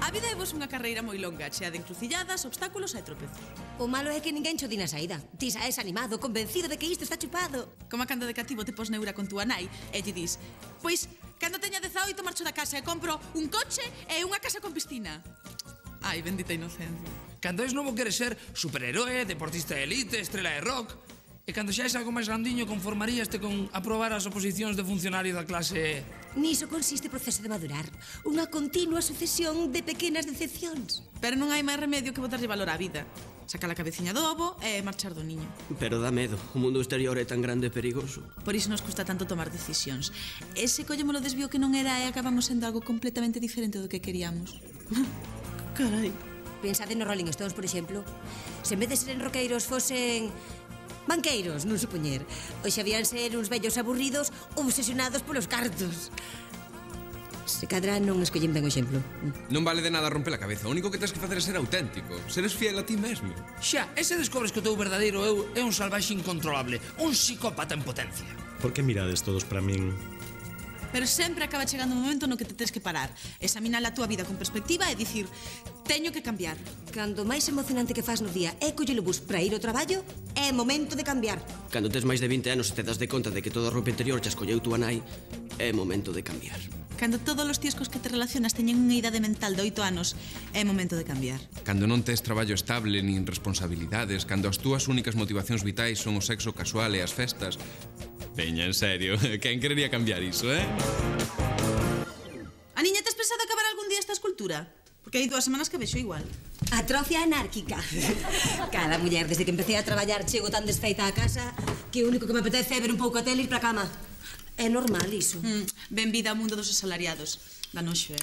A vida é vos unha carreira moi longa, chea de encrucilladas, obstáculos e tropezos. O malo é que ninguén cho di na saída. Ti saes animado, convencido de que isto está chupado. Como cando de cativo te pos neura con túa nai e lle dis: pois, cando teña 18 marcho da casa e compro un coche e unha casa con piscina. Ai, bendita inocencia. Cando és novo queres ser superheroe, deportista de elite, estrela de rock. E cando xa és algo máis grandiño conformaríaste con aprobar as oposicións de funcionario da clase... Niso consiste o proceso de madurar. Unha continua sucesión de pequenas decepcións. Pero non hai máis remedio que botarlle valor á vida. Sacar a cabeciña do ovo e marchar do niño. Pero dá medo, o mundo exterior é tan grande e perigoso. Por iso nos custa tanto tomar decisións. Ese collemos o desvío que non era e acabamos sendo algo completamente diferente do que queríamos. Carai. Pensade nos Rolling Stones, por exemplo. Se en vez de seren roqueiros fosen... banqueiros, non supoñer. Hoxe habían ser uns vellos aburridos obsesionados polos cartos. Se cadra non escollen ben o exemplo. Non vale de nada romper a cabeza. O único que tens que facer é ser auténtico. Seres fiel a ti mesmo. Xa, ese descobres que o teu verdadeiro eu é un salvaxe incontrolable, un psicópata en potencia. Por que mirades todos para min? Pero sempre acaba chegando un momento no que te tens que parar, examinar a túa vida con perspectiva e dicir: teño que cambiar. Cando máis emocionante que faz no día é coller o bus para ir ao traballo, é momento de cambiar. Cando tes máis de 20 anos e te das de conta de que toda a roupa interior xa escolleu túa nai, é momento de cambiar. Cando todos os tíos cos que te relacionas teñen unha idade mental de 8 anos, é momento de cambiar. Cando non tes traballo estable nin responsabilidades, cando as túas únicas motivacións vitais son o sexo casual e as festas... Veña, en serio, quen querería cambiar iso, eh? A niña, tes pensado acabar algún día esta escultura? Porque hai 2 semanas que vexo igual. Atrofia anárquica. Cada muller, desde que empecé a traballar, chego tan desfeita a casa que o único que me apetece é ver un pouco a tele e ir para a cama. É normal iso. Benvida ao mundo dos asalariados. Da noxo,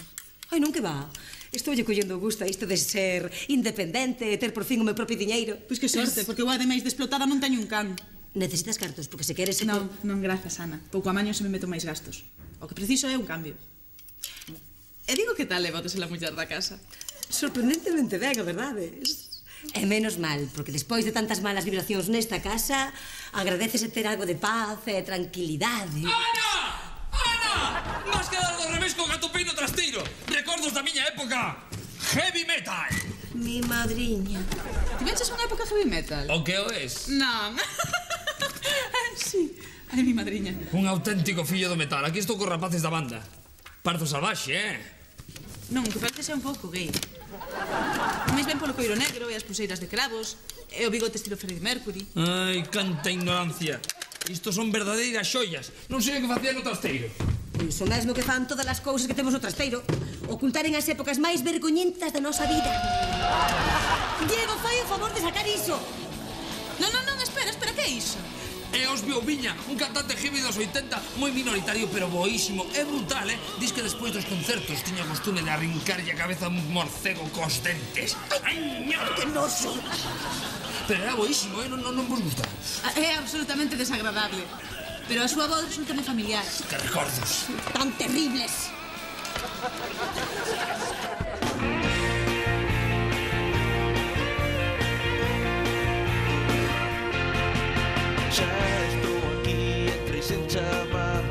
Ai, non que va. Estou lle collendo gusto a isto de ser independente e ter por fin o meu propio diñeiro. Pois que sorte, porque eu ademais de explotada non teño un can. Necesitas cartos, porque se queres... Non, non, grazas, Ana. Pouco a maño se me meto máis gastos. O que preciso é un cambio. E digo que tal levotes a muller da casa? Sorprendentemente ben, a verdade. E menos mal, porque despois de tantas malas vibracións nesta casa, agradecese ter algo de paz e tranquilidade. Ana! Ana! Vas quedar do revés con gatupino trasteiro. Recordos da miña época. Heavy metal. Mi madriña. Ti venches unha época heavy metal? O que o es? Non. Sí. Ai, mi madriña. Un auténtico fillo do metal. Aquí estou cos rapaces da banda. Parto salvaxe, Non, que parece ser un pouco gay. Máis ben polo coiro negro e as pulseiras de cravos e o bigote estilo Freddie Mercury. Ai, canta ignorancia. Isto son verdadeiras xoias. Non sei o que facía no trasteiro. Iso mesmo que fan todas as cousas que temos no trasteiro. Ocultaren as épocas máis vergoñentas da nosa vida. Diego, fai o favor de sacar iso. Non, espera, que é iso? É Osbio Viña, un cantante heavy dos 80, moi minoritario pero boísimo. É brutal, Diz que despois dos concertos tiña costume de arrincarlle a cabeza a un morcego cos dentes. Ai, que noso! Pero era boísimo, non vos gusta? É absolutamente desagradable. Pero a súa voz resulta moi familiar. Que recordos. Tan terribles. Xa estou aquí, entrei sen chamar.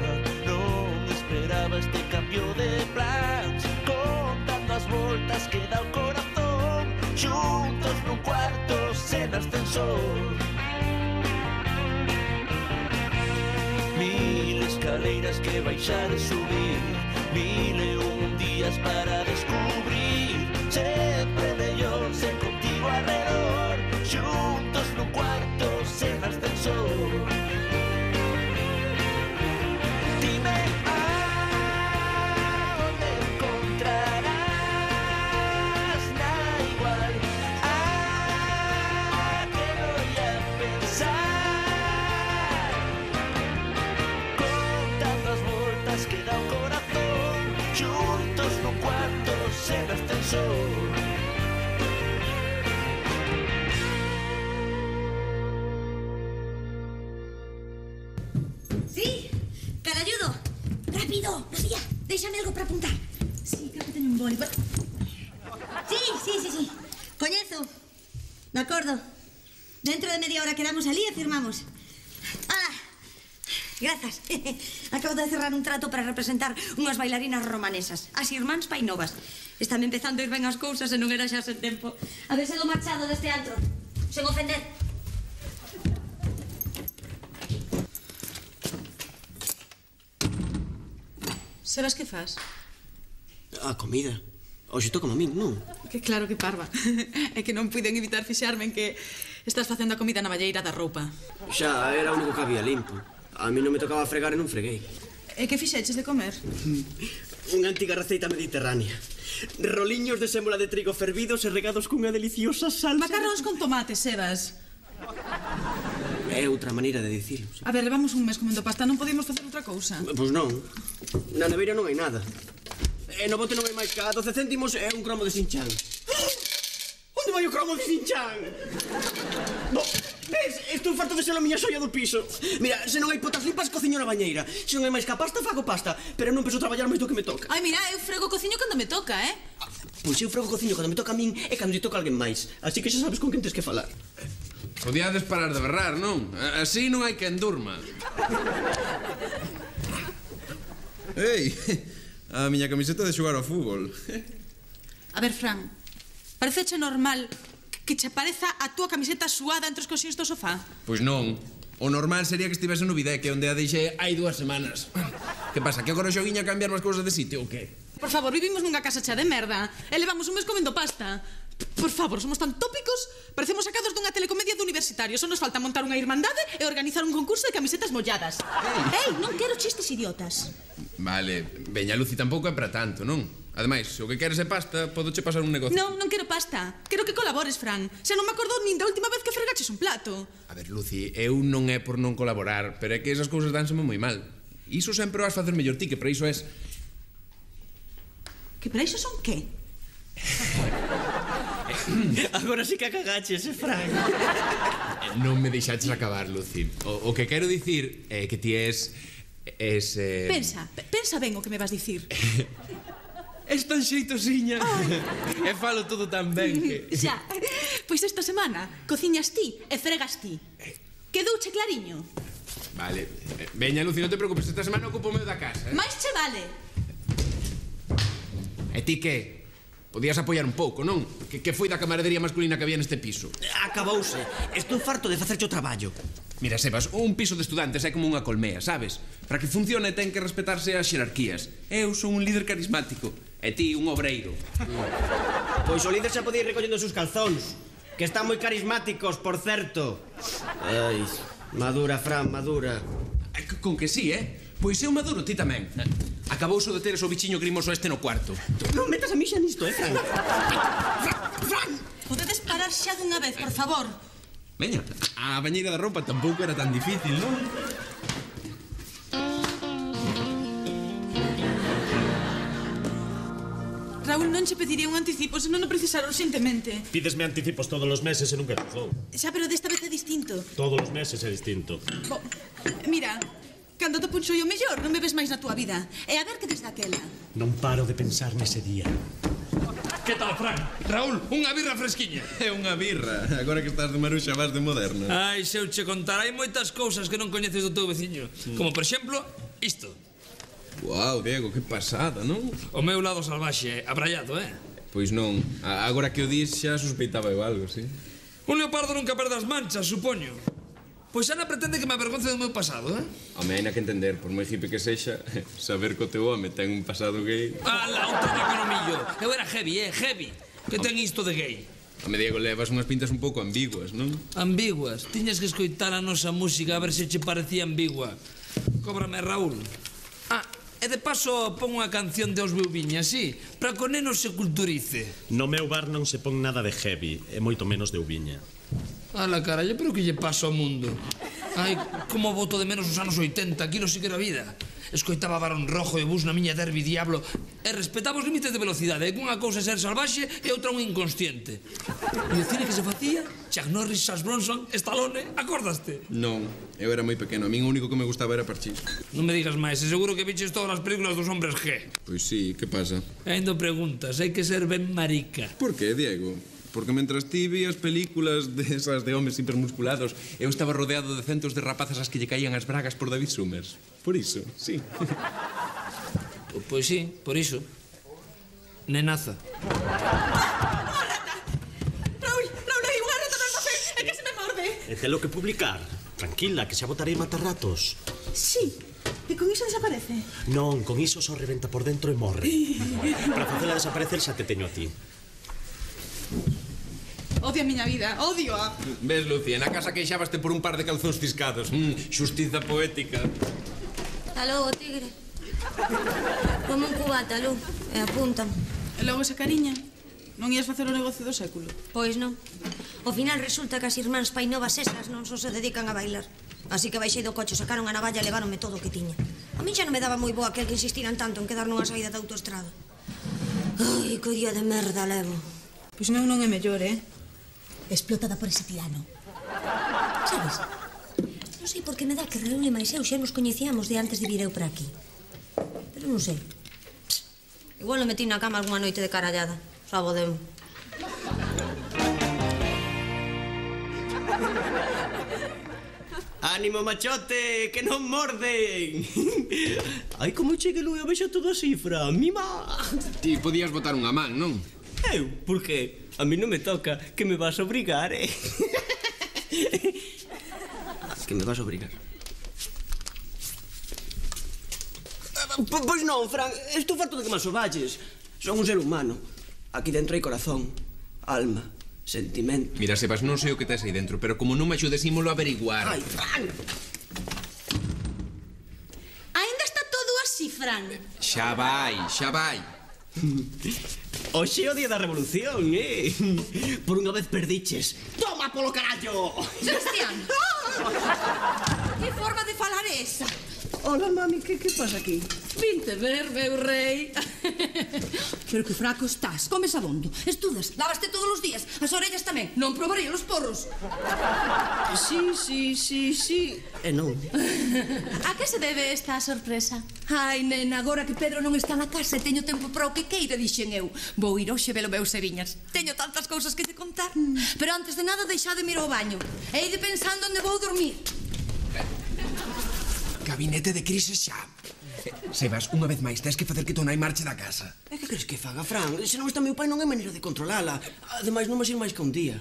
Non esperaba este cambio de plans. Contando as voltas que dá o corazón. Xuntos nun cuarto sen ascensor. Mil escaleiras que baixar e subir. 1001 días para descubrir. Sempre mellor sen contigo alrededor. Xuntos nun cuarto sen ascensor. Dime aonde encontrarás na igual. Que voy a pensar contando as voltas que dá o corazón. Xuntos nun cuarto sen ascensor. Sí, caralludo. Rápido, Lucía, déixame algo para apuntar. Sí, creo que teño un boli. Sí. Coñezo. De acordo. Dentro de media hora quedamos ali e firmamos. Hala. Grazas. Acabo de cerrar un trato para representar unhas bailarinas romanesas, as irmáns Painovas. Están empezando a ir ben as cousas e non era xa sen tempo. A ver se do marchado deste antro. Sen ofender. Sebas que fas? A comida. Hoxe toca a min, non? Que claro que parva. É que non puiden evitar fixarme en que estás facendo a comida na valleira da roupa. Xa, era o único que había limpo. A mí non me tocaba fregar e non freguei. E que fixeches de comer? Unha antiga receita mediterránea. Roliños de sémola de trigo fervidos e regados cunha deliciosa salsa. Macarróns con tomate, Sebas. É outra maneira de dicilo. A ver, levamos un mes comendo pasta, non podemos facer outra cousa. Pois non. Na neveira non hai nada. E no bote non hai máis que a 12 céntimos e un cromo de Sinchan. Onde vai o cromo de Sinchan? Ves? Estou farto de ser a miña xoia do piso. Mira, se non hai potas limpas, cociño na bañeira. Se non hai máis que a pasta, fago pasta. Pero non penso traballar máis do que me toca. Ai, mira, eu frego cociño cando me toca, Pois eu frego cociño cando me toca a min e cando lle toca a alguén máis. Así que xa sabes con quen tens que falar. Podíades parar de berrar, non? Así non hai quen durma. Ei, a miña camiseta de xogar ao fútbol. A ver, Fran, pareceche normal que che pareza a túa camiseta suada entre os cosiños do sofá? Pois non. O normal sería que estivese no Videque, onde a deixei hai 2 semanas. Que pasa, que agora xoguiña a cambiar as cousas de sitio ou que? Por favor, vivimos nunha casa chea de merda e levamos un mes comendo pasta. Por favor, somos tan tópicos. Parecemos sacados dunha telecomedia de universitario. Só nos falta montar unha irmandade e organizar un concurso de camisetas molladas. Ei, non quero chistes idiotas. Vale, veña, Luci, tampouco é para tanto, non? Ademais, se o que queres é pasta, podoche pasar un negocio. Non, non quero pasta. Quero que colabores, Fran. Xa non me acordo nin da última vez que fregaches un plato. A ver, Luci, eu non é por non colaborar, pero é que esas cousas dánseme moi mal. Iso sempre o vas facer mellor ti, que para iso es... Que para iso son que? Agora sí que a cagaches, Fran. Non me deixaches acabar, Luci. O que quero dicir é que ti es... Pensa ben o que me vas dicir. Es tan xeitosiña. E falo todo tan ben que... Xa, pois esta semana cociñas ti e fregas ti. Quedouche clariño? Vale, veña, Luci, non te preocupes, esta semana ocupo o meu da casa, Mais che vale. E ti que? Podías apoiar un pouco, non? Que foi da camaradería masculina que había neste piso? Acabouse. Estou farto de facerche o traballo. Mira, Sebas, un piso de estudantes é como unha colmea, sabes? Para que funcione ten que respetarse as xerarquías. Eu son un líder carismático e ti un obreiro. Pois o líder xa podía ir recollendo os seus calzóns, que están moi carismáticos, por certo. Ai, madura, Fran, madura. Con que sí, Pois eu maduro, ti tamén. Acabouso de teres o bichiño grimoso este no cuarto. Non metas a mí xa nisto, Fran. Fran, podedes parar xa dunha vez, por favor. Veña, a bañeira da roupa tampouco era tan difícil, non? Raúl, non che pediría un anticipo se non o precisar urxentemente. Pídesme anticipos todos os meses e nunca cruzou. Xa, pero desta vez é distinto. Todos os meses é distinto. Mira, cando te punxo o mellor, non me ves máis na túa vida. E a ver que desde aquela. Non paro de pensar nese día. Que tal, Fran? Raúl, unha birra fresquiña. É unha birra. Agora que estás de maruxa vas de moderna. Ai, se eu che contar, hai moitas cousas que non coñeces do teu veciño. Como, por exemplo, isto. Uau, Diego, que pasada, non? O meu lado salvaxe, abraiado, Pois non. Agora que o dis xa suspeitaba eu algo, sí? Un leopardo nunca perde as manchas, supoño. Pois Ana pretende que me avergonce do meu pasado, Home, hai que entender, por moi hippie que sexa, saber que o teu home ten un pasado gay... Ala, un tabaco no millo. Eu era heavy, heavy. Que ten isto de gay? Home, Diego, levas unhas pintas un pouco ambiguas, non? Ambiguas? Tiñas que escoitar a nosa música a ver se che parecía ambigua. Cóbrame, Raúl. E de paso pon unha canción de Os Beuviña, así, para que o neno se culturice. No meu bar non se pon nada de heavy, e moito menos de Uviña. Ala, carallo, pero que lle pasa ao mundo? Ai, como boto de menos os anos 80, aquilo sí que era vida. Escoitaba Barón Rojo e Bus na miña Derby Diablo e respetaba os límites de velocidade. E unha cousa é ser salvaxe e outra un inconsciente. E o cine que se facía? Chuck Norris, Charles Bronson, Stallone, acordaste? Non, eu era moi pequeno. A min o único que me gustaba era Parchís. Non me digas máis, e seguro que viches todas as películas dos hombres G. Pois sí, que pasa? Ainda preguntas, hai que ser ben marica. Por que, Diego? porque mentras ti vías películas desas de homes hipermusculados, eu estaba rodeado de centos de rapazas as que lle caían as bragas por David Summers. Por iso, sí. Pois sí, por iso. Nenaza. Raúl, hai unha rata no café, é que se me morde. E telo que publicar. Tranquila, que xa botarei matarratos. Sí, e con iso desaparece. Non, con iso só reventa por dentro e morre. Para facela desaparecer xa te teño a ti. Odio a miña vida, odio a... Ves, Lucía, na casa queixabaste por un par de calzóns ciscados. Xustiza poética. Aló, tigre. Como un cubata, Lu, e apuntan. E logo esa cariña, non ias facer o negocio do século? Pois non. Ao final resulta que as irmáns Painovas esas non só se dedican a bailar. Así que baixei do coche, sacaron a navalla e leváronme todo o que tiña. A mí xa non me daba moi boa aquel que insistiran tanto en quedar nunha saída da autoestrada. Ai, que día de merda levo. Pois non é mellor, Explotada por ese tirano. Sabes? Non sei por que me dá que Raúl e máis eu xa nos coñecíamos de antes de vir eu para aquí. Pero non sei. Igual lo metí na cama algunha noite de carallada. Sabodemo. Ánimo, machote, que non morden. Ai, como chegue Lu, eu vexo todo así, Fran, mima. Ti podías botar unha man, non? Eu, por que? A mí non me toca, que me vas a obrigar, Que me vas a obrigar. Pois non, Fran, estou farto de que me asoballes. Son un ser humano. Aquí dentro hai corazón, alma, sentimento. Mira, Sebas, non sei o que tes aí dentro, pero como non me axudes, ímolo averiguar. Ai, Fran! Ainda está todo así, Fran. Xa vai, xa vai. Hoxe é o día da revolución, Por unha vez perdiches. Toma polo carallo! Cristian! Que forma de falar é esa? Hola, mami, que pasa aquí? Vinte ver, meu rei. Pero que fraco estás. Comes abondo, estudas, lavaste todos os días. As orellas tamén. Non probaría os porros. Sí. E non. A que se debe esta sorpresa? Ai, nena, agora que Pedro non está na casa e teño tempo para o que queira, dixen eu. Vou ir hoxe velo meus Seviñas. Teño tantas cousas que te contar. Pero antes de nada, deixade ir ao baño. E ide pensando onde vou dormir. Gabinete de crisis xa. Sebas, unha vez máis, tens que facer que tu nai marche da casa. E que crees que faga, Fran? Se non está meu pai non hai maneira de controlala. Ademais, non vas ir máis que un día.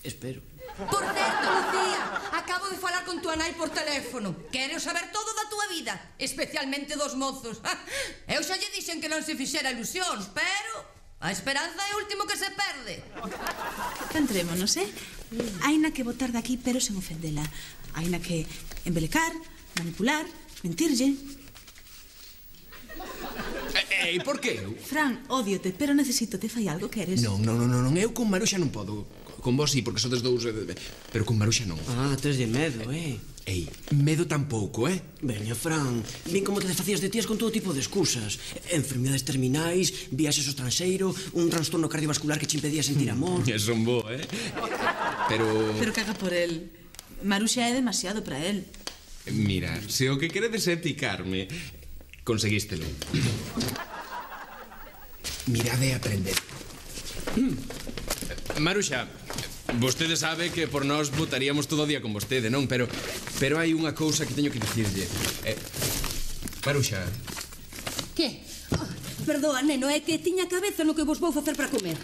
Espero. Por certo, Lucía, acabo de falar con tua nai por teléfono. Quero saber todo da tua vida, especialmente dos mozos. Eu xa lle dixen que non se fixera ilusións, pero a esperanza é o último que se perde. Centrémonos, Haina que botar daqui, pero sen ofendela. Haina que embelecar, manipular, mentirlle. E por que eu? Fran, ódiote, pero necesito te fai algo, queres? Non, eu con Maruxa non podo. Con vos sí, porque sodes dous, pero con Maruxa non. Ah, tes de medo, Ei, medo tampouco, Veña, Fran, vin como te desfacías de tías con todo tipo de excusas. Enfermidades terminais, viaxes ao estranxeiro, un trastorno cardiovascular que che impedía sentir amor. Son bo, Pero caga por el. Maruxa é demasiado para el. Mira, se o que queredes é picarme, conseguístelo. Mirad e aprended. Maruxa, vostede sabe que por nós votaríamos todo o día con vostede, non? Pero hai unha cousa que teño que dicirlle. Maruxa. Que? Perdoa, neno, é que tiña cabeza no que vos vou facer para comer.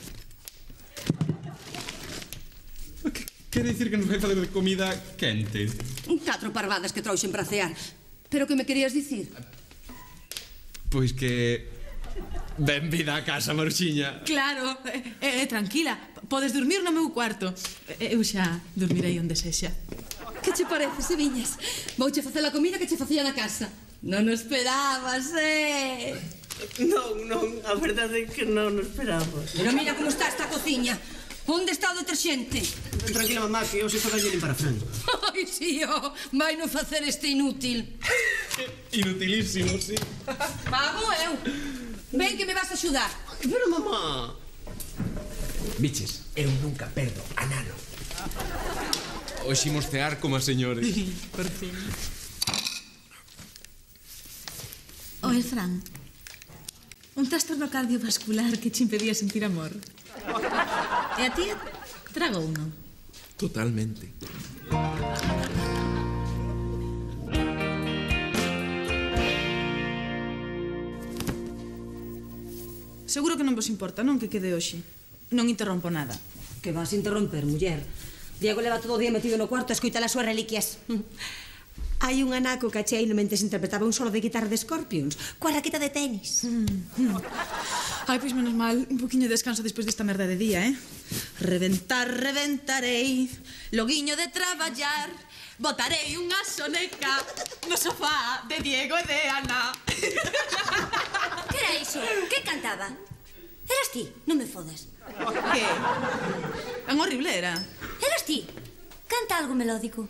Quere dicir que nos vai fazer de comida quente? 4 parvadas que trouxen para cear. Pero que me querías dicir? Pois que... Benvida a casa, Maruxiña. Claro, tranquila, podes dormir no meu cuarto. Eu xa dormirei onde sexa. Que che parece, Seviñas? Vouche facer a comida que che facía na casa. Non o esperabas, Non, a verdade é que non o esperaba. Pero mira como está esta cociña. Onde está o deterxente? Tranquila, mamá, que eu sei facer limpar a Fran. Ai, sí, vai non facer este inútil. Inutilísimo, sí. Pago eu. Ven que me vas a axudar. Pero, mamá... Biches, eu nunca perdo a nano. Hoxe imos cear como a señores. Por fin. Oe, Fran, un trastorno cardiovascular que che impedía sentir amor. E a tía tragou uno. Totalmente. Seguro que non vos importa, non, que quede hoxe. Non interrompo nada. Que vas interromper, muller? Diego leva todo o día metido no cuarto a escoitar as súas reliquias. Hai un anaco cacheino mentes interpretaba un solo de guitarra de Scorpions coa raqueta de tenis. Ai, pois menos mal, un poquinho de descanso despois desta merda de día, Reventar, reventarei, loguiño de traballar, botarei unha soneca no sofá de Diego e de Ana. Que era iso? Que cantaba? Eras ti? Non me fodas. Que? É unha horrible era. Eras ti? Canta algo melódico.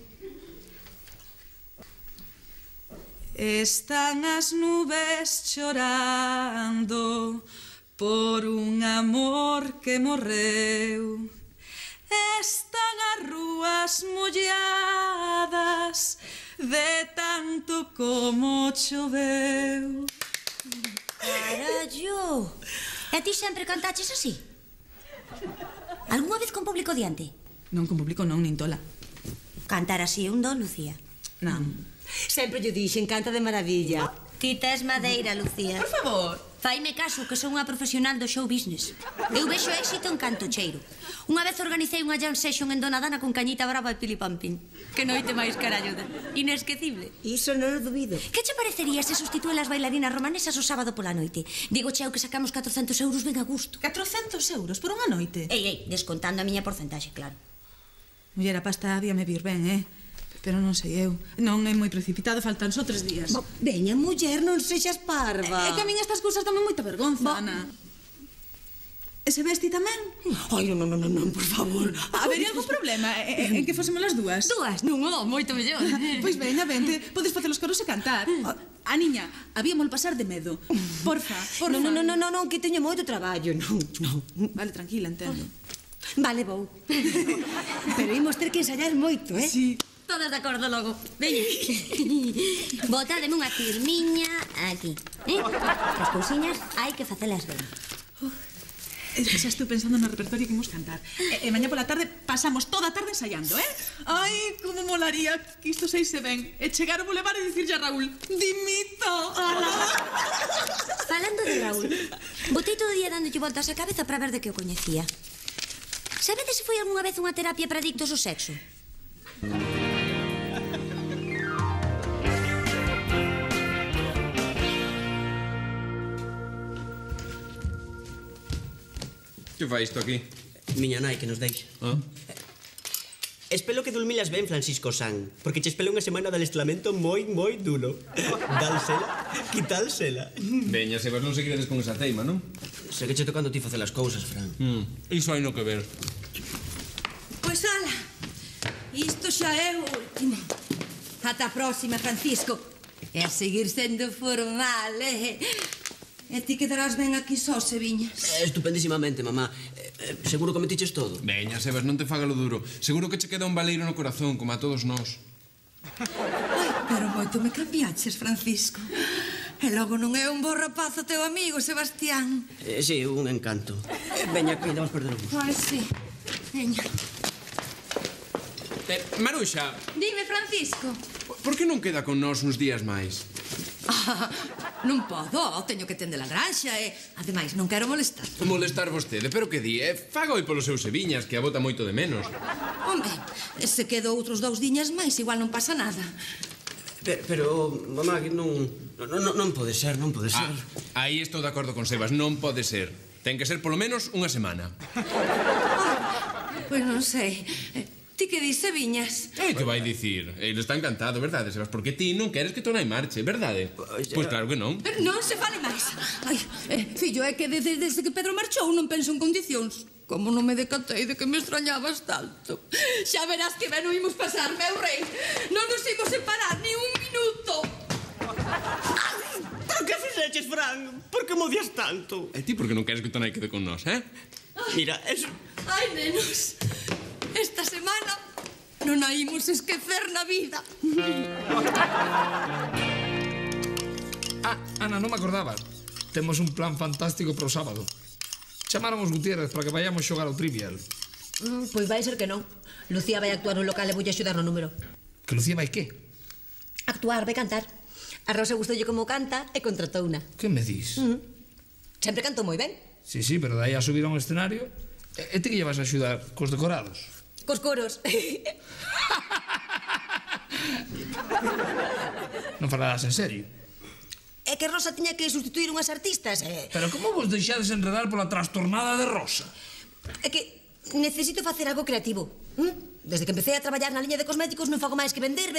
Están as nubes chorando por un amor que morreu. Están as rúas molladas de tanto como choveu. Carallo! E ti sempre cantaches así? Algúna vez con público diante? Non con público non, nin tola. Cantar así é un don, Lucía. Non. Sempre lle dixen, canta de maravilla. Ti tes madeira, Lucía. Por favor. Faime caso, que son unha profesional do show business. Eu vexo éxito en canto cheiro. Unha vez organicei unha jam session en Donadana con Cañita Brava e Pili Pampín. Que noite máis caralluda. Inesquecible. Iso non o dubido. Que che parecería se sustitúe as bailarinas romanesas o sábado pola noite? Digo cheo que sacamos 400 euros ben a gusto. 400 euros por unha noite? Ei, descontando a miña porcentaxe, claro. Muller, a pasta habíame vir ben, Pero non sei eu. Non é moi precipitado, faltan só 3 días. Veña, muller, non sexas parva. É que a min estas cousas tamén moita vergonza, Ana. E se ves ti tamén? Ai, non, por favor. Habería algún problema en que fósemos as dúas? Dúas? Non, moito mellor. Pois veña, vente, podes facer os coros e cantar. A niña, habíamol pasar de medo. Porfa. Non, que teño moito traballo, non. Vale, tranquila, entendo. Vale, vou. Pero imos ter que ensayar moito, Sí. Todas de acordo logo. Veña. Botádeme unha firmiña aquí. As cousiñas hai que facelas ben. Xa estou pensando no repertorio que imos cantar. E mañá pola tarde pasamos toda a tarde ensaiando, Ai, como molaría que isto seise ben. E chegar ao bulevar e dicirlle a Raúl: dimito. Falando de Raúl, botei todo o día dándolle voltas á cabeza para ver de que o coñecía. Sabedes se foi algunha vez unha terapia para adictos ao sexo? Que fai isto aquí? Miña nai que nos deixa. Espero que dormilas ben, Francisco San, porque che espero unha semana de adestramento moi duro. Dálsela, quitálsela. Veña, Sebas, non se queredes con esa teima, non? Sei que che tocando ti facer as cousas, Fran. Iso hai no que ver. Pois ala, isto xa é o último. Ata a próxima, Francisco. E a seguir sendo formal, E ti quedarás ben aquí só, se viñas. Estupendísimamente, mamá. Seguro que metiches todo? Veña, Sebas, non te faga lo duro. Seguro que che queda un baleiro no corazón, como a todos nós. Ai, pero moito me cambiaches, Francisco. E logo non é un bo rapaz o teu amigo, Sebastián. Sí, un encanto. Veña, que vamos perder o bus. Ai, sí. Veña. Maruxa, Dime, Francisco. por que non queda con nós uns días máis? Non podo, teño que tender a granxa e, ademais, non quero molestar. Molestar vostede, pero que di? Faga oi polos seus seviñas, que a bota moito de menos. Home, se quedo outros 2 diñas máis, igual non pasa nada. Pero, mamá, que non pode ser, non pode ser. Aí estou de acordo con Sebas, non pode ser. Ten que ser polo menos unha semana. Pois non sei. Ti que dis, Seviñas? Que vai dicir? Ele está encantado, verdade, Sebas? Porque ti non queres que Tonai marche, verdade? Pois claro que non. Non se fale máis. Ai, fillo, é que desde que Pedro marchou non penso en condicións. Como non me decatei de que me extrañabas tanto. Xa verás que ben o imos pasar, meu rei. Non nos imos separar ni un minuto. Pero que fixeches, Fran? Por que me odias tanto? E ti por que non queres que Tonai quede con nós, Mira, es... Ai, nenos, esta semana non a imos esquecer na vida. Ana, non me acordaba. Temos un plan fantástico pro sábado. Chamaron os Gutiérrez para que vayamos xogar ao Trivial. Pois vai ser que non. Lucía vai actuar no local e voulle axudar no número. Que Lucía vai que? Actuar, vai cantar. A Rosa gustoulle como canta e contratouna. Que me dis? Sempre cantou moi ben. Sí, pero daí a subir a un escenario. E ti que lle vas a axudar cos decorados? Cos coros. Non falarás en serio? É que Rosa tiña que sustituir unhas artistas. Pero como vos deixades enredar pola trastornada de Rosa? É que necesito facer algo creativo. Desde que empecé a traballar na liña de cosméticos non fago máis que vender.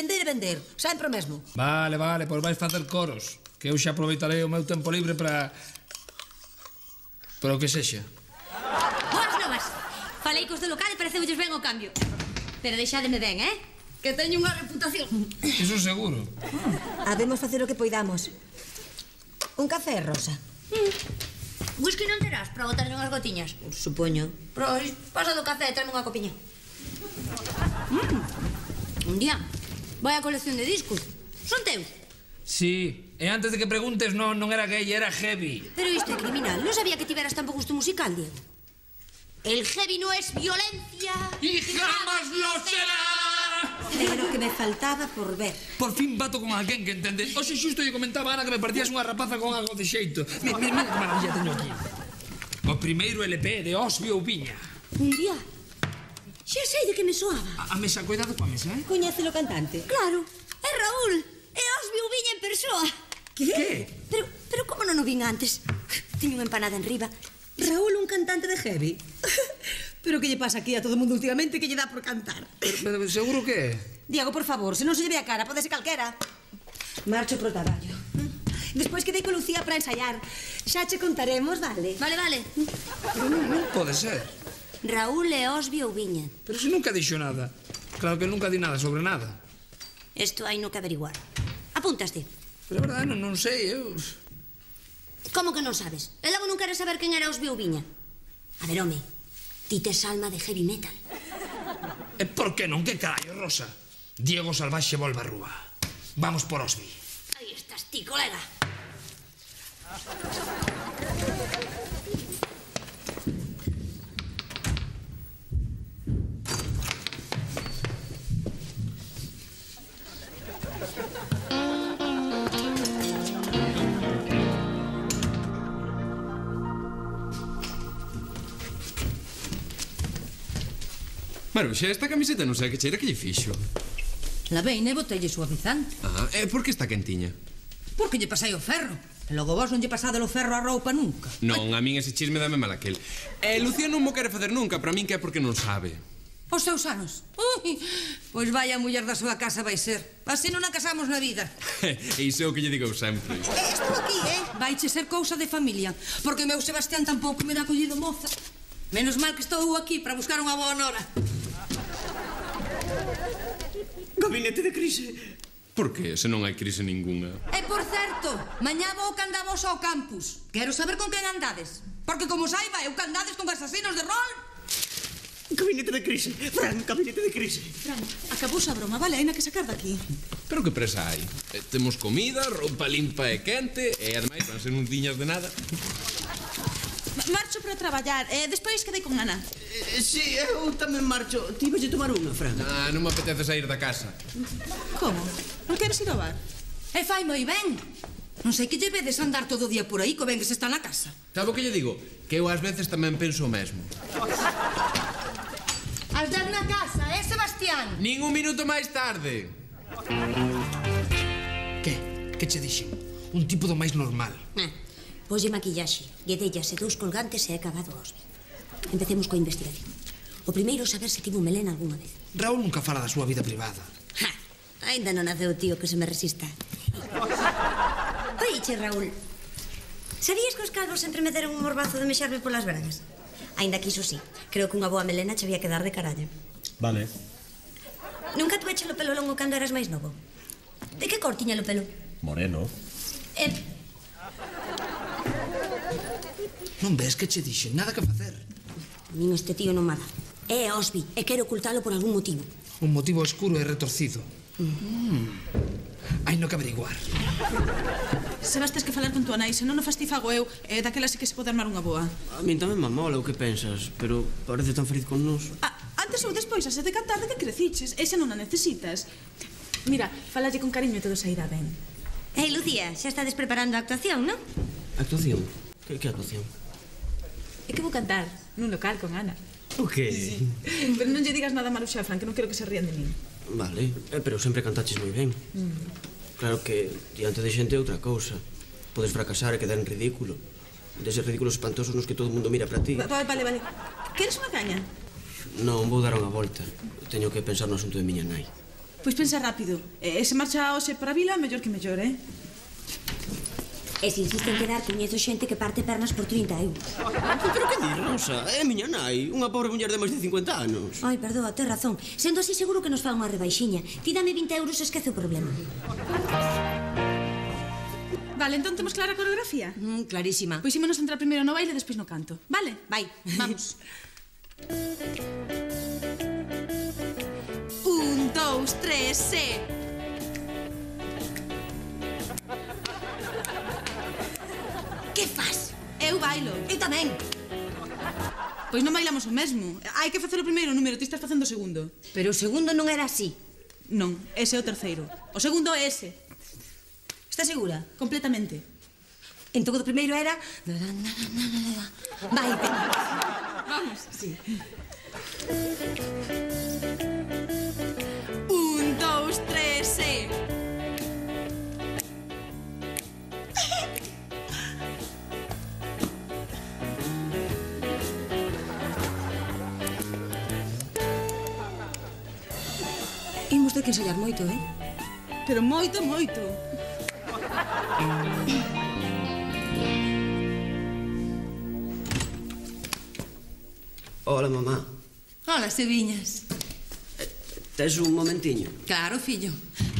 Sempre o mesmo. Vale, pois vais facer coros. Que eu xa aproveitarei o meu tempo libre para o que sexa. Boas novas. Falei cos do local e pareceulles ben o cambio. Pero deixádeme ben, Que teño unha reputación. Iso seguro. Habemos facer o que poidamos. Un café, Rosa? Whisky non terás para botarlle unhas gotiñas? Supoño. Pois, pasa do café e tráeme unha copiña. Un día, vai a colección de discos. Son teus? Sí, e antes de que preguntes, non era gay, era heavy. Pero isto é criminal. Non sabía que tiveras tan bo gusto musical, Diego. El heavy no es violencia. ¡Y jamás lo será! Pero que me faltaba por ver. Por fin bato con alguén que entende. Oxe, xusto lle comentaba a Ana que me partías unha rapaza con algo de xeito. Mira que maravilla teño aquí. O primeiro LP de Osby Oubiña. Un día. Xa sei de que me soaba. A mesa, cuidado coa mesa, Coñece o cantante? Claro, é Raúl. É Osby Oubiña en persoa. Que? Pero como non o vin antes? Teño unha empanada en riba. Raúl, un cantante de heavy. Pero que lle pasa aquí a todo mundo últimamente que lle dá por cantar? Pero seguro que é? Diego, por favor, se non se lle ve a cara, pode ser calquera. Marcho pro traballo. Despois quedei con Lucía para ensaiar. Xa che contaremos, vale? Vale. Non pode ser. Raúl e Osby Oubiña. Pero se nunca dixo nada. Claro que nunca di nada sobre nada. Isto hai no que averiguar. Apúntaste. Pero a verdade non sei, eu... Como que non sabes? E logo non queres saber quen era Osby Oubiña? A ver, home, ti tes alma de heavy metal. E por que non? Que carallo, Rosa? Diego Salvaxe volve a rúa. Vamos por Osby. Aí estás ti, colega. Maruxa, esta camiseta non sei que cheira que lle fixo. Laveina e botelle suavizante. E por que está quentiña? Porque lle pasei o ferro. E logo vos non lle pasade o ferro á roupa nunca. Non, a min ese chisme dame mal aquel. Lucía non mo quere facer nunca, para min que é porque non sabe. Os seus anos. Ui, pois vai a muller da súa casa vai ser. Así non a casamos na vida. E iso é o que lle digo sempre. Estou aquí, Vaiche ser cousa de familia. Porque o meu Sebastián tampouco me dá collido moza. Menos mal que estou aquí para buscar unha boa nora. Gabinete de crise. Por que, se non hai crise ningunha? E por certo, mañá vou que andavos ao campus. Quero saber con quen andades. Porque como saiba, eu que andades con asasinos de rol. Gabinete de crise. Fran, gabinete de crise. Fran, acabouse a broma, vale? Haina que sacar daqui. Pero que presa hai? Temos comida, roupa limpa e quente, e ademais van ser un tiñas de nada. Marcho para traballar, despois quedei con Ana. Si, eu tamén marcho. Ti vais tomar unha, Fran? Non me apetece sair da casa. Como? Non queres ir ao bar? E fai moi ben. Non sei que lle vedes andar todo o día por aí, co ben que se está na casa. Sabe o que lle digo? Que eu ás veces tamén penso o mesmo. Has dar na casa, Sebastián? Nin un minuto máis tarde. Que che dixen? Un tipo do máis normal. Poslle maquillaxe, guedellas e 2 colgantes e é acabado Osby. Empecemos coa investigación. O primeiro saber se tivo melena algunha vez. Raúl nunca fala da súa vida privada. Ainda non naceu o tío que se me resista. Oiche, Raúl, sabías que os calvos sempre me deron un morbazo de mexarme polas bragas? Ainda que iso sí, creo que unha boa melena che había que dar de carallo. Vale. Nunca tuveche o pelo longo cando eras máis novo? De que cor tiña o pelo? Moreno. Non ves que che dixen? Nada que facer. A min este tío non me dá. É Osby e quero ocultalo por algún motivo. Un motivo oscuro e retorcido. Hai no que averiguar. Sebas, tes que falar con tua nai, se non o fastifago eu, daquela sí que se pode armar unha boa. A min tamén me mola o que pensas, pero parece tan feliz con nos. antes ou despois ase de cantar de que creciches. E xa non a necesitas. Mira, falalle con cariño e todo sairá ben. Ei, Lucía, xa estades preparando a actuación, non? Actuación? Que actuación? É que vou cantar nun local con Ana. O que? Pero non lle digas nada malo xa, Fran, que non quero que se rían de min. Vale, pero sempre cantaches moi ben. Claro que diante de xente é outra cousa. Podes fracasar e quedar en ridículo. Deses ridículos espantosos nos que todo o mundo mira para ti. Vale. Queres unha caña? Non, vou dar unha volta. Teño que pensar no asunto de miña nai. Pois pensa rápido. E se marcha hoxe para a vila, mellor que mellor, eh? E se insisten en quedar, coñezo xente que parte pernas por 30 euros. Pero que dis, Rosa? É miña nai, unha pobre muller de máis de 50 anos. Ai, perdoa, tes razón. Sendo así, seguro que nos fa unha rebaixiña. Ti dame 20 euros e esquece o problema. Vale, entón temos clara a coreografía? Clarísima. Pois ímonos entrar primeiro no baile e despois no canto. Vale? Vai. Vamos. 1, 2, 3, se... Que fas? Eu bailo. Eu tamén. Pois non bailamos o mesmo. Hai que facer o primeiro número, ti estás facendo o segundo. Pero o segundo non era así. Non, ese é o terceiro. O segundo é ese. Estás segura? Completamente. Entón o primeiro era... Vai, Vamos, sí. 1, 2, 3, se... Imos ter que ensayar moito, eh? Pero moito. Hola, mamá. Hola, Seviñas. Tes un momentiño? Claro, fillo.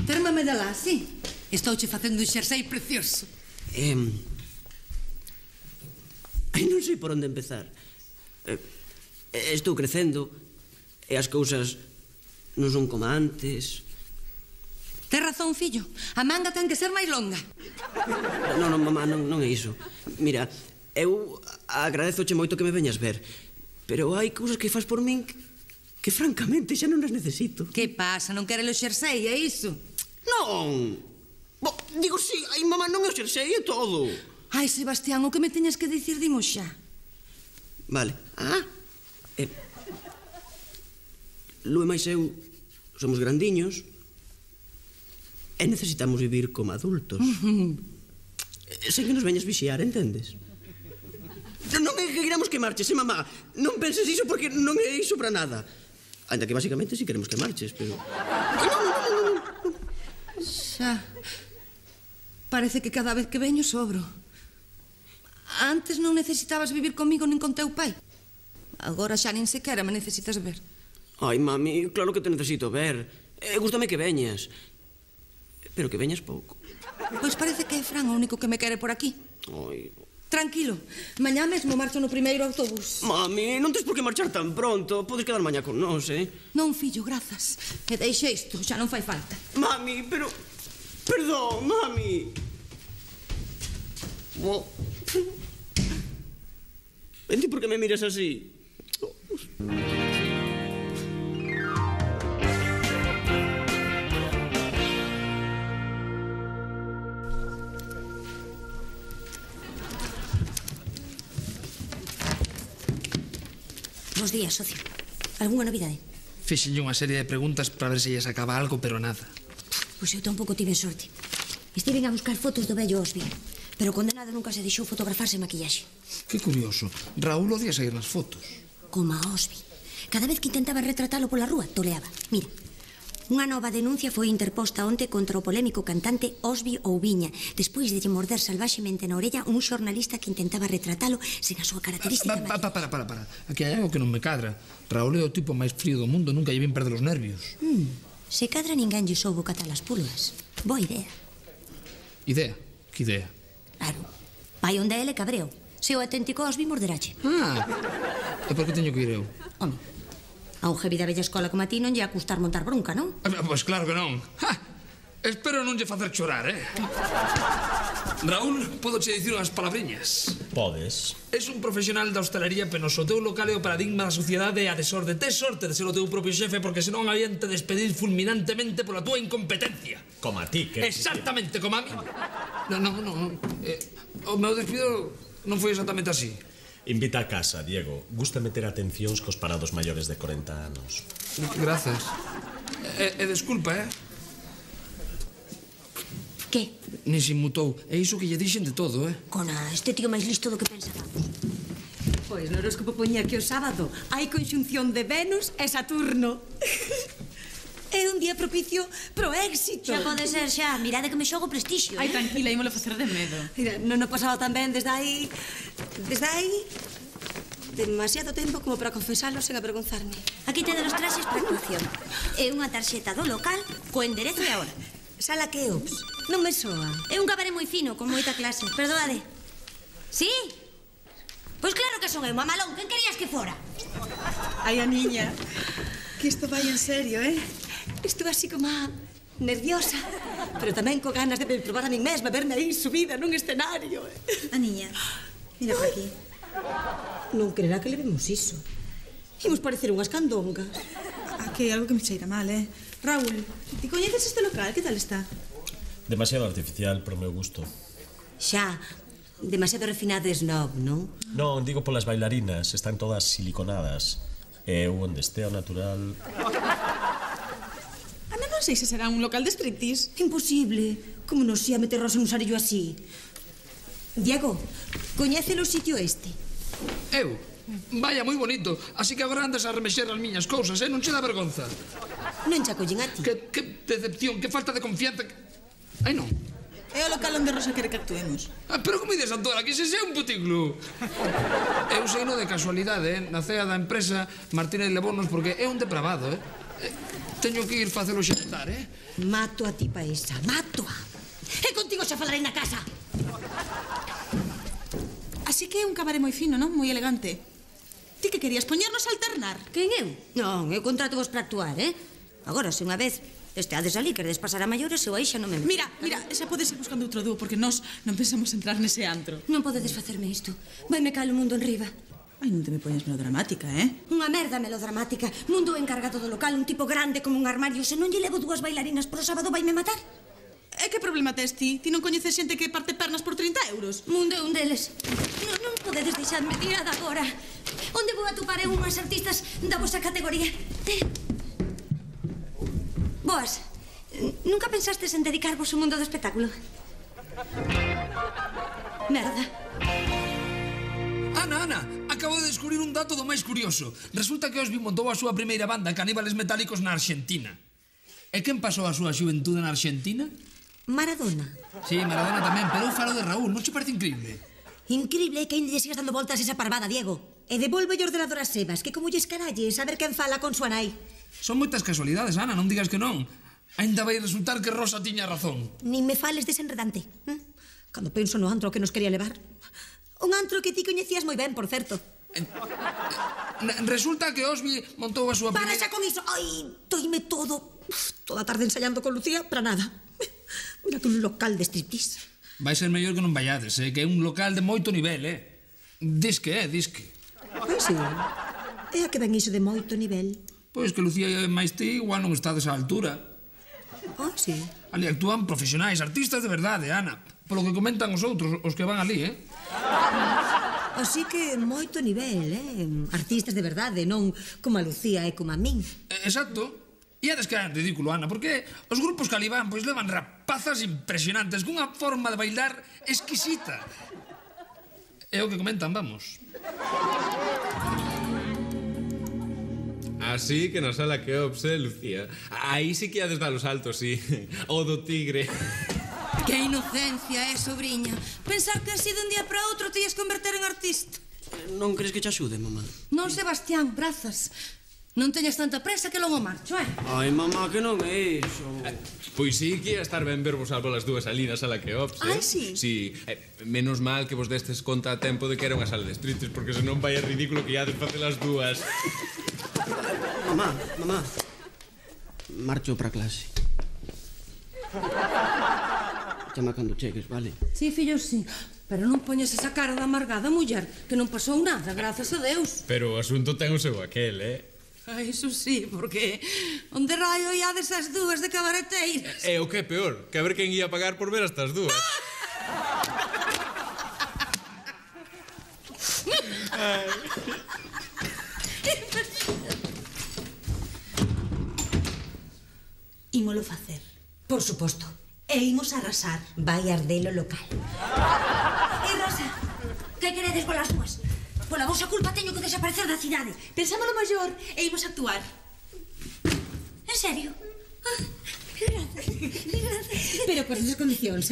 Térmame de lá, sí. Estouche facendo un xersei precioso. Ai, non sei por onde empezar. Estou crecendo e as cousas non son como antes. Tes razón, fillo. A manga ten que ser máis longa. Non, mamá, non é iso. Mira, eu agradezoche moito que me veñas ver, pero hai cousas que fas por min que francamente xa non as necesito. Que pasa? Non queres o xersei, é iso? Non! Digo, sí, ai, mamá, non é o xersei, é todo. Ai, Sebastián, o que me teñas que dicir, dimos xa. Vale. Lu e máis eu somos grandiños e necesitamos vivir como adultos. Sen que nos veñas vixiar, entendes? Non é que queramos que marches, mamá. Non penses iso porque non é iso para nada. Ainda que basicamente si queremos que marches, pero... Non. Xa. Parece que cada vez que veño sobro. Antes non necesitabas vivir comigo nin con teu pai. Agora xa nin sequera me necesitas ver. Ai, mami, claro que te necesito ver. Gústame que veñas. Pero que veñas pouco. Pois parece que é Fran o único que me quere por aquí. Ai... Tranquilo, mañá mesmo marcho no primeiro autobús. Mami, non tes por que marchar tan pronto. Podes quedar mañá con nós, Non, fillo, grazas. E deixe isto, xa non fai falta. Mami, pero... Perdón, mami. E ti por que me miras así? Bos días, socio. Algúnha novidade? Fixenlle unha serie de preguntas para ver se lle sacaba algo, pero nada. Pois eu tampouco tive sorte. Estiven a buscar fotos do vello Osby, pero o condenado nunca se deixou fotografarse en maquillaxe. Que curioso. Raúl odia sair nas fotos. Como a Osby. Cada vez que intentaba retratalo pola rúa, toleaba. Mira, unha nova denuncia foi interposta onte contra o polémico cantante Osby Oubiña, despois de lle morder salvaxemente na orella un xornalista que intentaba retratalo sen a súa característica maquillaxe. Para. Aquí hai algo que non me cadra. Raúl é o tipo máis frío do mundo, nunca lle vin perder os nervios. Se cadra ninguén lle soubo catar as pulgas. Boa idea. Idea? Que idea? Claro. Vai onde ele cabreo. Se o auténtico Osby morderache. E por que teño que ir eu? Home, a un jebi da bella escola como a ti non lle a custar montar bronca, non? Pois claro que non. Espero non lle facer chorar, Raúl, podo che dicir unhas palabriñas. Podes. Es un profesional da hostelería penoso. O teu local é o paradigma da sociedade e a desorde. Tes sorte de ser o teu propio xefe, porque senón habían te despedir fulminantemente pola túa incompetencia. Como a ti, que... Exactamente, como a mí. Non. O meu despido non foi exactamente así. Invita a casa, Diego. Gusta meter atencións cos parados maiores de 40 anos. Grazas. E desculpa, Que? Nin se inmutou. É iso que lle dixen de todo, Cona, este tío máis listo do que pensábamos. Pois no horóscopo poñía que o sábado hai conxunción de Venus e Saturno. É un día propicio pro éxito. Xa pode ser, xa. Mirade que me xogo prestixio. Ai, tranquila, ímolo facer de medo. Mira, non o pasaba tan ben desde aí... demasiado tempo como para confesarlo sen avergonzarme. Aquí tedes os traxes para actuación. É unha tarxeta do local co enderezo e a hora. Sala Keops. Non me soa. É un cabaré moi fino, con moita clase. Perdoade. Sí? Pois claro que son eu, mamalón. Quen querías que fora? Ai, a niña. Que isto vai en serio, Estou así como nerviosa, pero tamén co ganas de probar a min mesma, verme aí subida nun escenario. A niña, mira por aquí. Non creerá que levemos iso. Imos parecer unhas candongas. Aquí hai algo que me cheira mal, Raúl, ti coñeces este local? Que tal está? Demasiado artificial, pro meu gusto. Xa, demasiado refinado e snob, non? Non, digo polas bailarinas, están todas siliconadas. E eu onde estea o natural... Ana, non sei se será un local de striptease. Imposible. Como nos ia meternos en un sarillo así? Diego, coñece o sitio este? Eu? Vaya, moi bonito. Así que agora andas a remexer as miñas cousas, non che dá vergonza? Non che acollen a ti. Que decepción, que falta de confianza. Ai, non. É o local onde Rosa quere que actuemos. Pero como dices, Antola, que ese é un puticlub. Eu sei no de casualidade, na cea da empresa Martínez Lebonos, porque é un depravado, Teño que ir facelo xantar, Mato a ti pa esa, mato-a. E contigo xa falarei na casa. Así que é un cabaré moi fino, non? Moi elegante. Ti que querías poñernos a alternar? Quen eu? Non, eu contrato vos para actuar, Agora, se unha vez esteades ali, queredes pasar a maiores, eu aí xa non me... Mira, xa podes ir buscando outro dúo, porque nós non pensamos entrar nese antro. Non podedes facerme isto. Vai me caer o mundo en riba. Ai, non te me poñas melodramática, Unha merda melodramática. Mundo encargado do local, un tipo grande como un armario. Se non lle levo 2 bailarinas pro sábado, vaime matar. E que problema tes ti? Ti non coñeces xente que parte pernas por 30 euros? Mundo é un deles. Non podedes deixarme tirada agora. Onde vou atopar eu unhas artistas da vosa categoría? Boas, nunca pensastes en dedicarvos ao mundo do espectáculo? Merda. Ana, acabo de descubrir un dato do máis curioso. Resulta que Osby montou a súa primeira banda, Caníbales Metálicos, na Arxentina. E quen pasou a súa xuventude na Arxentina? Maradona. Sí, Maradona tamén, pero eu falo de Raúl, non che parece increíble? Increíble é que ainda lle sigas dando voltas esa parvada, Diego. E devolve o ordenador a Sebas, que como lles caralle saber quen fala con súa nai. Son moitas casualidades, Ana, non digas que non. Ainda vai resultar que Rosa tiña razón. Nin me fales desenredante. Cando penso no antro que nos quería levar. Un antro que ti coñecías moi ben, por certo. Resulta que Osby montou a súa primeira... Para xa con iso! Ai, doime todo. Toda a tarde ensayando con Lucía, para nada. Mira que un local de striptease. Vai ser mellor que non vayades, que é un local de moito nivel, Disque. Pois sí. É a que ven iso de moito nivel. Pois que Lucía e máis ti igual non estades á altura. Ah, sí. Ali actúan profesionais, artistas de verdade, Ana. Polo que comentan os outros, os que van ali, Así que moito nivel, Artistas de verdade, non como a Lucía e como a min. Exacto. E é que é ridículo, Ana, porque os grupos que ali van pois levan rapazas impresionantes cunha forma de bailar exquisita. É o que comentan, vamos. Así que na sala Keops, Lucía. Aí sí que hades dar os saltos, sí. O do tigre. Que inocencia, sobriña. Pensar que así dun día para outro te ias converter en artista. Non crees que te axude, mamá? Non, Sebastián, grazas. Non teñas tanta presa que logo marcho, Ai, mamá, que non é iso. Pois sí que ia estar ben vervos algo as dúas ali na sala Keops, Ai, sí? Sí, menos mal que vos destes conta a tempo de que era unha sala de striptease, porque senón vai a ridículo que iades facer as dúas. Mamá, marcho para clase. Chama cando chegues, vale? Sí, fillo, sí. Pero non poñes esa cara de amargada, muller, que non pasou nada, grazas a Deus. Pero o asunto ten o seu aquel, Ai, iso sí, porque onde raio iades as dúas de cabareteiras? E o que é peor, que a ver quen ia pagar por ver estas dúas. Ímolo facer. Por suposto. E imos arrasar. Vai arder o local. Rosa, que queredes polas dúas? Pola vosa culpa teño que desaparecer da cidade. Pensámolo maior e imos actuar. En serio? Pero con esas condicións,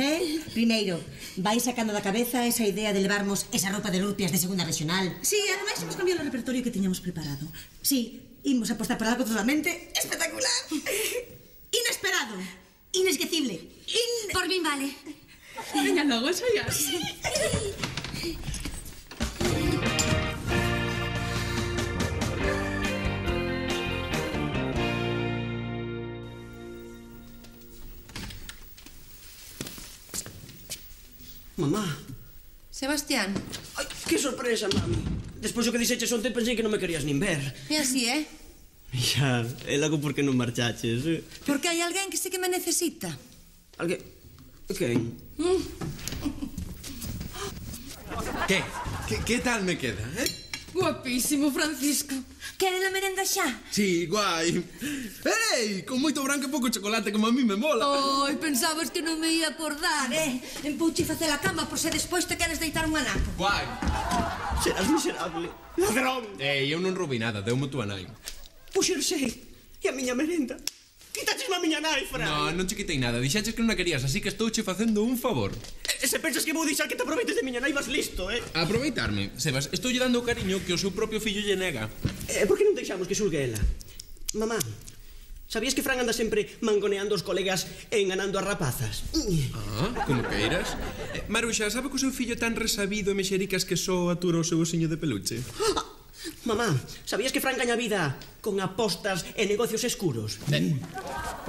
Primeiro, vai sacando da cabeza esa idea de levarmos esa roupa de rupias de segunda regional. Sí, ademais imos cambiar o repertorio que tiñamos preparado. Sí, imos apostar por algo totalmente espectacular. Inesperado. Inesquecible. Por min vale. Veña logo, ensaiar. Mamá. Sebastián. Ai, que sorpresa, mami. Despois do que dixeches onte pensei que non me querías nin ver. E así, Xa, e logo por que non marchaches? Porque hai alguén que sí que me necesita. Alguén? Quen? Que tal me queda, Guapísimo, Francisco. Queren a merenda xa? Sí, guai. Ei, con moito branco e pouco chocolate como a mí me mola. Ai, pensabas que non me ia acordar, Empouche facer a cama por se despois te queres deitar un anaco. Guai. Serás miserable. Ladrón. Ei, eu non roubei nada, deu-me túa nai. Puxerse. E a miña merenda? Quitachesme a miña nai, Fran. Non che quitei nada, dixaches que non a querías, así que estouche facendo un favor. E se pensas que vou deixar que te aproveites de miña nai, vas listo, Aproveitarme, Sebas, estou lle dando o cariño que o seu propio fillo lle nega. Por que non deixamos que xulgue ela? Mamá, sabías que Fran anda sempre mangoneando os colegas e enganando as rapazas? Como queiras. Maruxa, sabe que o seu fillo é tan resabido e mexericas que só atura o seu osiño de peluche? Mamá, sabías que Fran gaña vida con apostas e negocios escuros?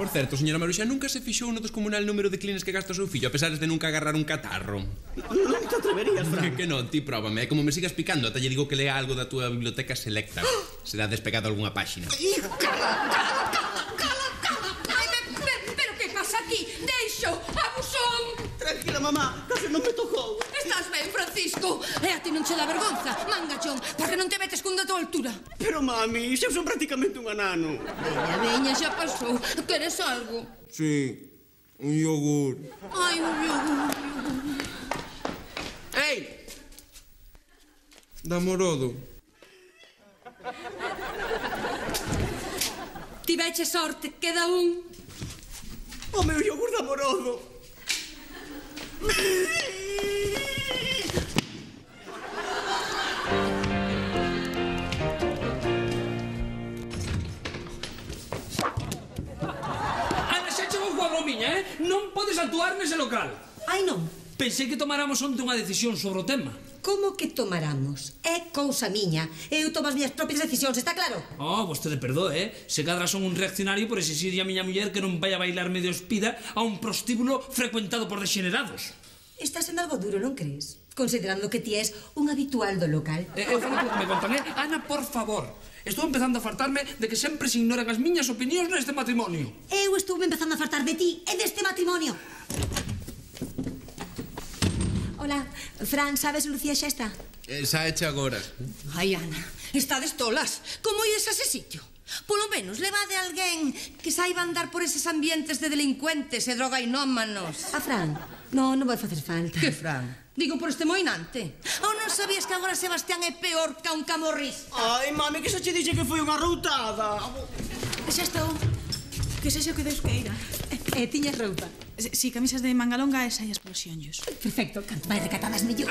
Por certo, señora Maruxa, nunca se fixou no descomunal número de clines que gasta o seu fillo, a pesar de nunca agarrar un catarro. Non te atreverías, Fran. Que non, ti próbame. Como me sigas picando, ata lle digo que lea algo da túa biblioteca selecta. Será despegado algunha páxina. Ai, pero que pasa aquí? Deixo, abusón. Tranquila, mamá, case non me tocou. Estás ben, Francisco? E a ti non che dá vergonza, mangachón, porque non te metes cun da tua altura. Pero, mami, xa son prácticamente un anano. Veña, xa pasou. Queres algo? Sí, un yogur. Ai, un yogur. Ei! Da Morodo. Tiveche sorte, queda un. O meu yogur da Morodo. Ana, xa chegou coa bromiña, Non podes actuar nese local. Ai, non. Pensei que tomáramos onte unha decisión sobre o tema. Como que tomaramos? É cousa miña. Eu tomo as miñas propias decisións, está claro? Vostede perdoe, Se cadra son un reaccionario por exigirlle a miña muller que non vai a bailar medio espida a un prostíbulo frecuentado por degenerados. Está sendo algo duro, non crees? Considerando que ti és un habitual do local. Eu falo polo que me contan, Ana, por favor. Estou empezando a fartarme de que sempre se ignoran as miñas opinións neste matrimonio. Eu estuve empezando a fartar de ti e deste matrimonio. Hola, Fran, sabes, Lucía xa está? Xa eche agora. Ai, Ana, estades tolas. Como ides a ese sitio? Polo menos, levade a alguén que saiba andar por eses ambientes de delincuentes e drogainómanos. A Fran? Non vai facer falta. Que Fran? Digo por este moinante. Ou non sabías que agora Sebastián é peor que un camorrista? Ai, mami, que xa che dixe que foi unha routada. Xa estou. Que sexa o que Deus queira. Tiñas roupa? Si, camisas de manga longa e saias polos xionllos. Perfecto, canto máis recatadas mellor.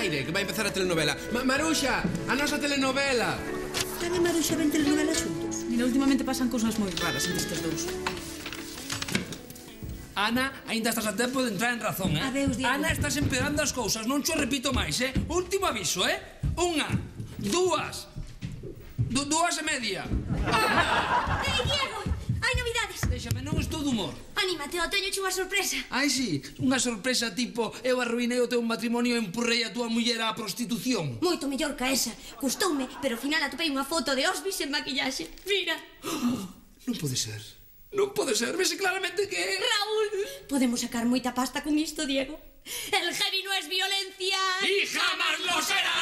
Aire, que vai empezar a telenovela. Maruxa, a nosa telenovela. Fran e Maruxa ven telenovela xuntos. Mira, últimamente pasan cousas moi raras entre estes dous. Ana, aínda estás a tempo de entrar en razón, Adeus, Diego. Ana, estás empeorando as cousas, non xo repito máis, Último aviso, Unha, dúas e media. Diego, hai novidades. Déxame, non estou de humor. Anímate, ó, teño unha sorpresa. Ai, sí, unha sorpresa tipo eu arruinei o teu matrimonio e empurrei a tua muller á prostitución. Moito mellor que esa. Gustoume, pero ao final atopei unha foto de Osby sen maquillaxe. Mira. Non pode ser. Non pode ser, vese claramente que... Raúl, podemos sacar moita pasta con isto, Diego. El heavy no es violencia. ¡Y jamás lo será!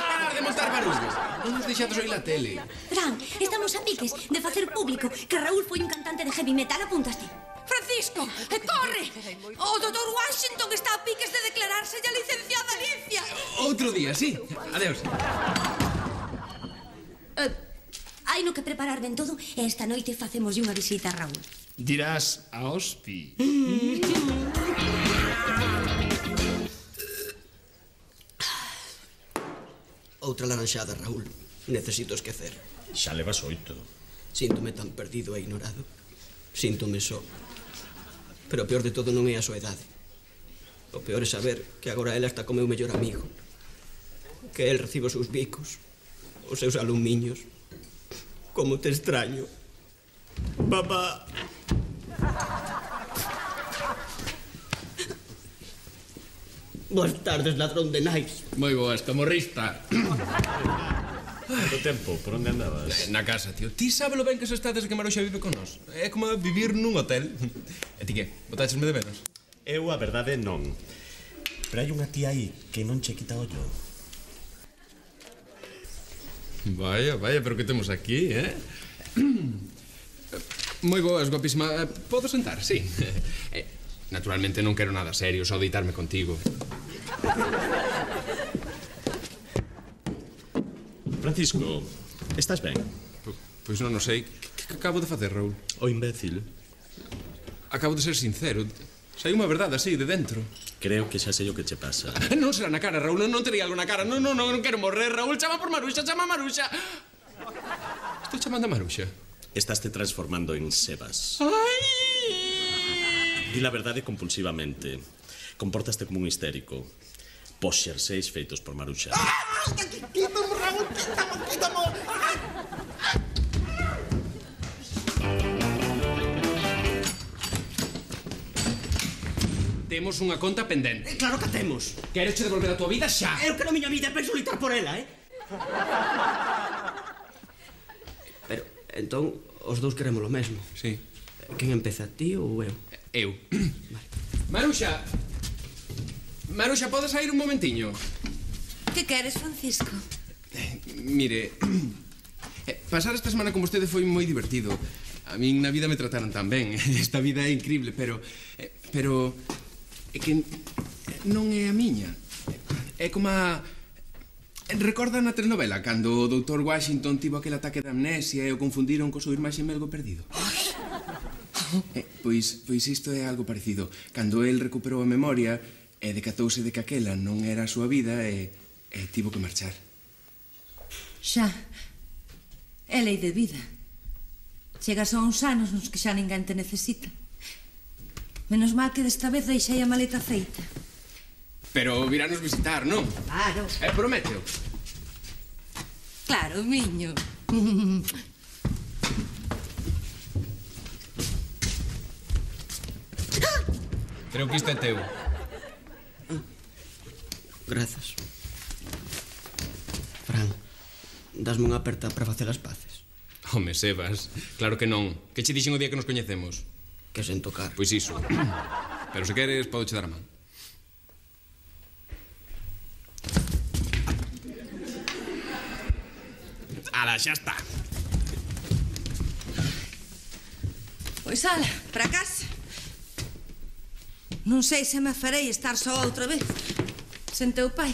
Parar de montar barullos. Non nos deixades oír la tele. Fran, estamos a piques de facer público que Raúl foi un cantante de heavy metal, apuntaste. Francisco, corre! O doutor Washington está a piques de declararse a licenciada Alicia. Outro día, sí. Adeus. Hai no que preparar ben todo e esta noite facemos unha visita a Raúl. Dirás a Ospi. Outra laranxada, Raúl. Necesito esquecer. Xa levas 8. Síntome tan perdido e ignorado. Síntome só. Pero o peor de todo non é a soedade. O peor é saber que agora ela está co meu mellor amigo. Que el recibe os seus bicos, os seus alumiños. Como te extraño. Papá. Boas tardes, ladrón de nais. Moi boas, camorrista. Quanto tempo? Por onde andabas? Na casa, tío. Ti sábelo ben que se estades que Maruxa vive con nós. É como vivir nun hotel. E ti que? Botáchesme de menos? Eu, a verdade, non. Pero hai unha tía aí que non che quita ollo. Vaya, pero que temos aquí, Moi boas, guapísima. Podo sentar, sí. Naturalmente non quero nada serio, só deitarme contigo. Francisco, estás ben? Pois non sei. Que acabo de facer, Raúl? O imbécil. Acabo de ser sincero. Sai unha verdade así, de dentro. Creo que xa sei o que che pasa. Non será na cara, Raúl, non tería algo na cara. Non quero morrer, Raúl. Chama por Maruxa, chama a Maruxa. Estou chamando a Maruxa. Estás te transformando en Sebas. Ai! Di la verdade compulsivamente. Comportaste como un histérico. Pos xerseis feitos por Maruxa. Quítamo, Raúl, quítamo. Temos unha conta pendente. Claro que temos. Quero che devolver a tua vida xa. Eu quero a miña vida, penso lutar por ela, Pero, entón, os dous queremos lo mesmo. Sí. Quen empeza, ti ou eu? Eu. Vale. Maruxa! Maruxa, podes sair un momentiño? Que queres, Francisco? Mire, pasar esta semana con vostede foi moi divertido. A min na vida me trataron tan ben. Esta vida é increíble, pero é que non é a miña. É como a... Recorda na telenovela cando o doutor Washington tivo aquel ataque de amnesia e o confundiron co seu irmán xemelgo perdido? Pois isto é algo parecido. Cando el recuperou a memoria e decatouse de que aquela non era a súa vida e tivo que marchar. Xa. É lei de vida. Chegas a uns anos nos que xa ninguén te necesita. Menos mal que desta vez deixei a maleta feita. Pero viranos visitar, non? Claro. Prométeo. Claro, miño. Creo que isto é teu. Grazas. Fran, dasme unha aperta para facer as paces. Home, Sebas, claro que non. Que che dixen o día que nos coñecemos? Que sen tocar. Pois iso. Pero se queres, podo che dar a man. Ala, xa está. Pois ala, para casa. Non sei se me farei estar só outra vez. Sen teu pai.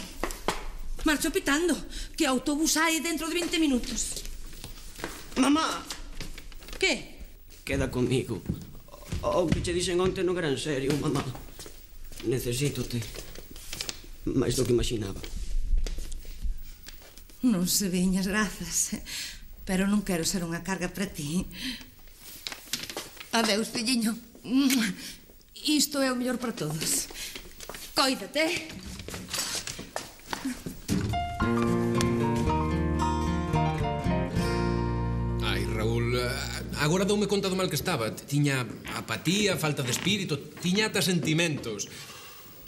Marcho pitando, que o autobús hai dentro de 20 minutos. Mamá! Que? Queda comigo. O que che dixen onte non era en serio, mamá. Necesítote. máis do que imaginaba. Non se veñas, grazas. Pero non quero ser unha carga para ti. Adeus, filliño. Isto é o mellor para todos. Cóidate. Ai, Raúl, Agora doume conta do mal que estaba. Tiña apatía, falta de espírito, tiña ata sentimentos.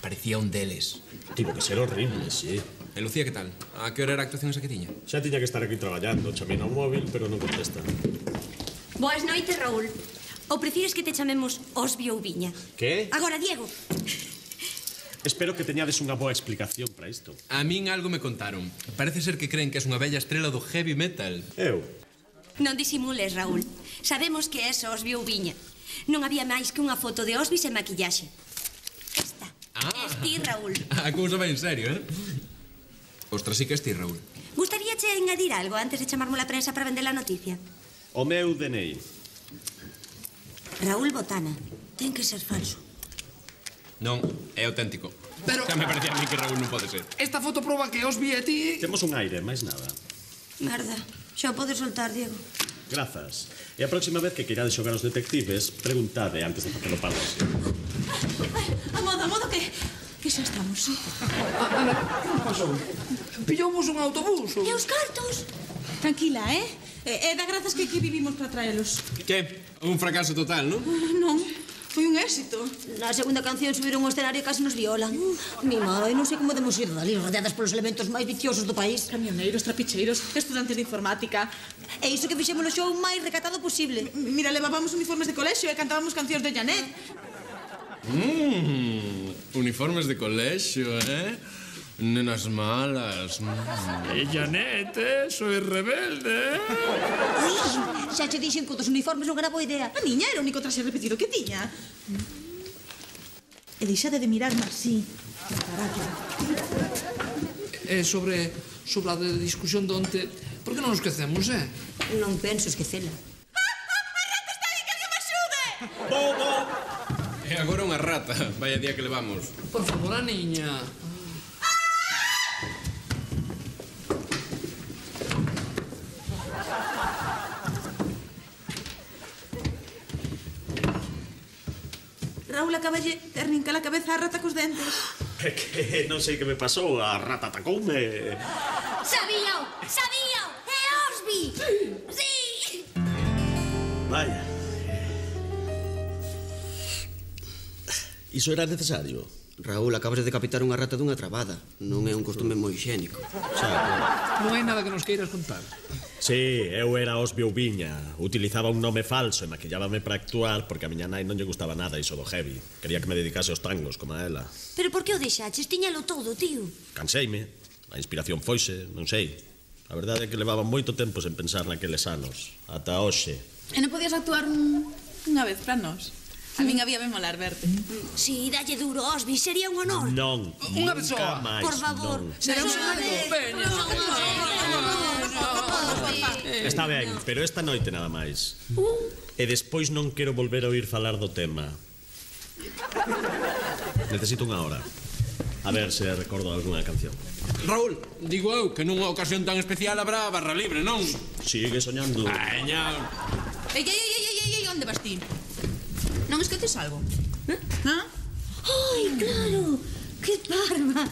Parecía un deles. Tivo que ser horrible, sí. E Lucía, que tal? A que hora era a actuación esa que tiña? Xa tiña que estar aquí traballando. Chamei no móvil, pero non contesta. Boas noites, Raúl. Ou prefires que te chamemos Osbi ou Viña? Que? Agora, Diego. Espero que teñades unha boa explicación para isto. A min algo me contaron. Parece ser que creen que és unha bella estrela do heavy metal. Eu? Non disimules, Raúl. Sabemos que és Osbi ou Viña. Non había máis que unha foto de Osbi sen maquillaxe. Esta. Es ti, Raúl. A cousa vai en serio, eh? Ostras, sí que es ti, Raúl. Gustaríache engadir algo antes de chamarmo a prensa para vender a noticia? O meu DNI. Raúl Botana. Ten que ser falso. Non, é auténtico. Pero- Xa me parecía a mí que Raúl non pode ser. Esta foto proba que os vi a ti... Temos un aire, máis nada. Merda. Xa o podes soltar, Diego. Grazas. E a próxima vez que queirades xogar aos detectives, preguntade antes de facelo para así. A modo que xa estamos. Ana, que pasou? Pillamos un autobús? E os cartos? Tranquila, É da grazas que aquí vivimos para traelos. Que? Un fracaso total, non? Non, foi un éxito. Na segunda canción subiron ao escenario e casi nos violan. Mi madre, non sei como demos ir dali, rodeadas polos elementos máis viciosos do país. Camioneiros, trapicheiros, estudantes de informática. E iso que fixemos o show máis recatado posible. Mira, levábamos uniformes de colexio e cantábamos cancións de Janet. Uniformes de colexio, eh? Nenas malas. E Janet, soy rebelde. Xa che dixen que dos uniformes non era boa idea. A niña era o único traxe repetido que tiña. E deixade de mirarme así. Sobre a discusión de onte, por que non nos esquecemos, Non penso esquecela. E agora unha rata. Vaya día que levamos. Por favor, a niña. Raúl acaballe de arrincar a cabeza a rata cos dentes. É que non sei que me pasou, a rata atacoume. Sabíao! Sabíao! É Osbi! Sí! Vaya. Iso era necesario? Raúl, acabas de decapitar unha rata dunha trabada. Non é un costume moi higiénico. Non hai nada que nos queiras contar. Sí, eu era Osbi ou Viña. Utilizaba un nome falso e maquillábame para actuar porque a miña nai non lle gustaba nada iso do heavy. Quería que me dedicase aos tangos, como a ela. Pero por que o deixaches? Tiñalo todo, tío. Canseime. A inspiración foise, non sei. A verdade é que levaba moito tempo sen pensar naqueles anos. Ata hoxe. E non podías actuar unha vez para nós? A min había me molar verte. Si, dalle duro, Osbi, sería un honor. Non, Unha nunca persoa. máis, Por favor. non. Será unha convenio. Está ben, pero esta noite nada máis. E despois non quero volver a oír falar do tema. Necesito unha hora. A ver se recordo algunha canción. Raúl, digo eu que nunha ocasión tan especial habrá barra libre, non? Sigue soñando. Aña. Ei, onde vas ti? Non esqueces algo? Ai, claro, que parva.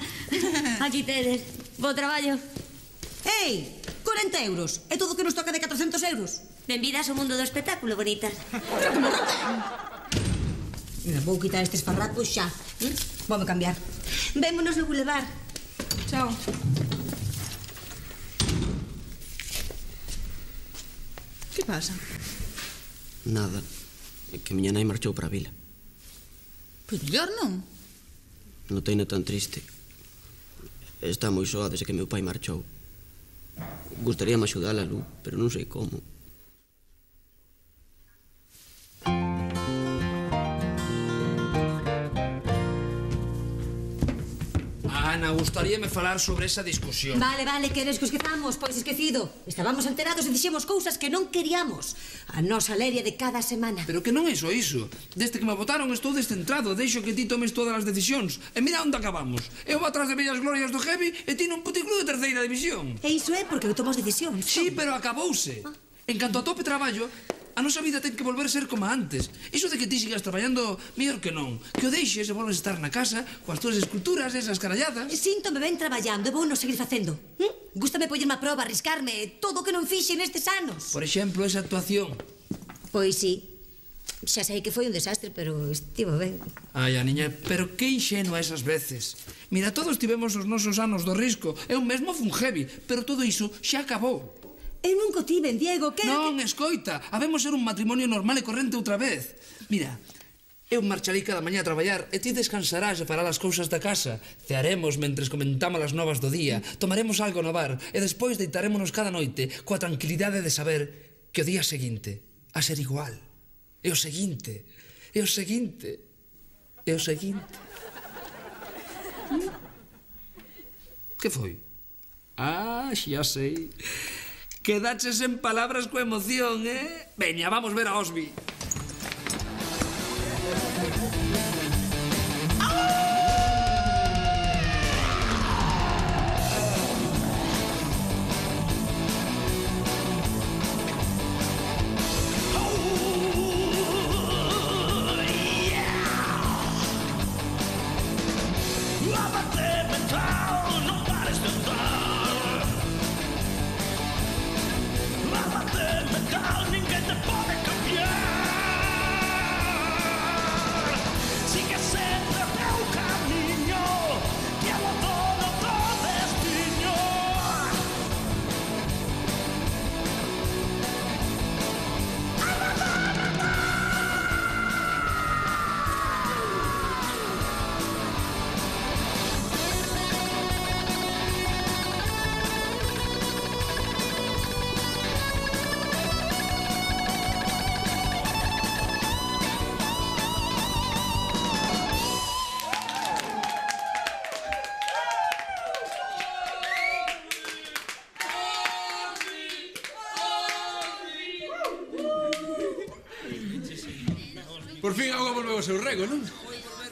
Aquí tedes, bo traballo. Ei, 40 euros. É todo o que nos toca de 400 euros. Benvidas ao mundo do espectáculo, bonita. Mira, vou quitar estes farrapos xa. Voume cambiar. Vémonos no boulevard. Chao. Que pasa? Nada. É que miña nai marchou para a vila. Pois mellor non. Noteina tan triste. Está moi soa desde que meu pai marchou. Gustaríame axudala, Lu, pero non sei como. Ana, gustaríame falar sobre esa discusión. Vale, queres que esquezamos? Pois esquecido. Estábamos enterados e dixemos cousas que non queríamos. A nosa leria de cada semana. Pero que non é só iso. Desde que me votaron estou descentrado. Deixo que ti tomes todas as decisións. E mira onde acabamos. Eu vou atrás de bellas glorias do heavy e ti nun puticlub de terceira división. E iso é porque eu tomo as decisións. Sí, pero acabouse. En canto a tope traballo, a nosa vida ten que volver a ser como antes. Iso de que ti sigas traballando, mellor que non. Que o deixes e volves a estar na casa coas túas esculturas, esas caralladas. Síntome ben traballando e vou non seguir facendo. Gústame pollerme a proba, arriscarme, todo o que non fixe nestes anos. Por exemplo, esa actuación. Pois sí. Xa sei que foi un desastre, pero estivo ben. Ai, Aniña, pero que inxenua esas veces. Mira, todos tivemos os nosos anos do risco. Eu mesmo fun heavy, pero todo iso xa acabou. Eu nunca tiven, Diego, que... Non, escoita, habemos ser un matrimonio normal e corrente outra vez. Mira, eu marcharei cada mañá a traballar e ti descansarás e farás as cousas da casa. Cearemos mentres comentamos as novas do día, tomaremos algo no bar e despois deitarémonos cada noite coa tranquilidade de saber que o día seguinte a ser igual. E o seguinte, e o seguinte, e o seguinte. Que foi? Ah, xa sei. Quedaches en palabras coa emoción, eh? Veña, vamos ver a Osby. Por fin a auga volveu ao seu rego, non?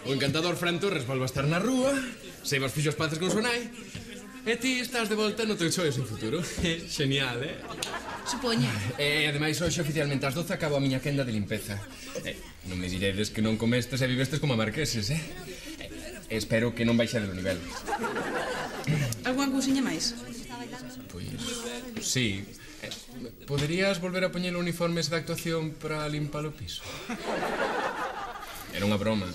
O encantador Fran Torres volve a estar na rúa, Sebas fixo as paces con súa nai, e ti estás de volta no teu xoio sen futuro. Genial, eh? Supoño. E, ademais, hoxe oficialmente ás 12 acabo a miña quenda de limpeza. Non me diredes que non comestes e vivestes como marqueses, eh? Espero que non baixades o nivel. Alguna cousiña máis? Pois, sí. Poderías volver a poñer o uniforme de actuación para limpar o piso? Era unha broma.